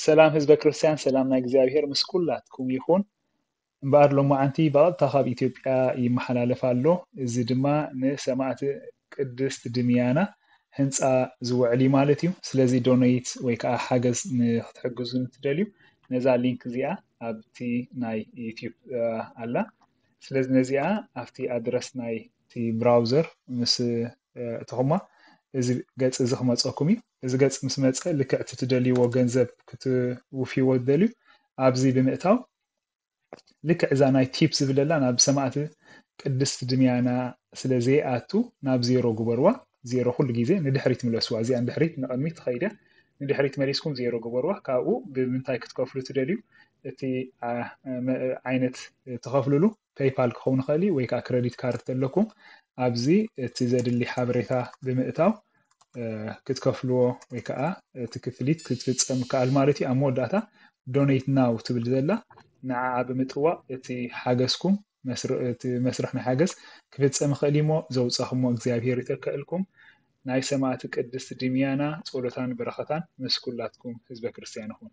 ሰላም ህዝበ ክርስቲያን፣ ሰላም ናይ እግዚኣብሔር ምስ ኩላትኩም ይኹን። እምበኣር ሎማዓንቲ ብቐጥታ ካብ ኢትዮጵያ ይመሓላለፍ ኣሎ። እዚ ድማ ንሰማዕቲ ቅድስት ድምያና ህንፃ ዝውዕል እዩ ማለት እዩ። ስለዚ ዶኔት ወይ ከዓ ሓገዝ ንክትሕግዙ እንትደልዩ ነዛ ሊንክ እዚኣ ኣብቲ ናይ ዩቲዩብ ኣላ። ስለዚ ነዚኣ ኣብቲ ኣድረስ ናይ እቲ ብራውዘር ምስ እትኹማ እዚ ገፅ እዚ ክመፀኩም እዩ። እዚ ገፅ ምስ መፀ ልክዕ እቲ ትደልይዎ ገንዘብ ክትውፍይዎ ትደልዩ ኣብዚ ብምእታው ልክዕ እዛ ናይ ቲፕ ዝብለላ ናብ ሰማዕቲ ቅድስት ድምያና ስለ ዘይኣቱ ናብ ዜሮ ግበርዋ። ዜሮ ኩሉ ግዜ ንድሕሪት ምለስዋ። እዚኣ ንድሕሪት ንቕድሚት ትኸይድ እያ። ንድሕሪት መሊስኩም ዜሮ ግበርዋ። ካብኡ ብምንታይ ክትከፍሉ ትደልዩ እቲ ዓይነት ትኸፍልሉ ፔይፓል ክኸውን ይኽእል እዩ ወይ ከዓ ክረዲት ካርድ ተለኩም ኣብዚ እቲ ዘድሊ ሓበሬታ ብምእታው ክትከፍልዎ ወይ ከዓ እቲ ክፍሊት ክትፍፀም ይከኣል ማለት እዩ። ኣብ መወዳእታ ዶኔት ናው ትብል ዘላ ንዓኣ ብምጥዋቕ እቲ ሓገዝኩም እቲ መስርሕ ናይ ሓገዝ ክፍፀም ይኽእል እዩሞ ዘውፃኹሞ እግዚኣብሔር ይተከእልኩም። ናይ ሰማዕቲ ቅድስት ድምያና ጸሎታን በረኸታን ምስ ኩላትኩም ህዝበ ክርስቲያን ይኹን።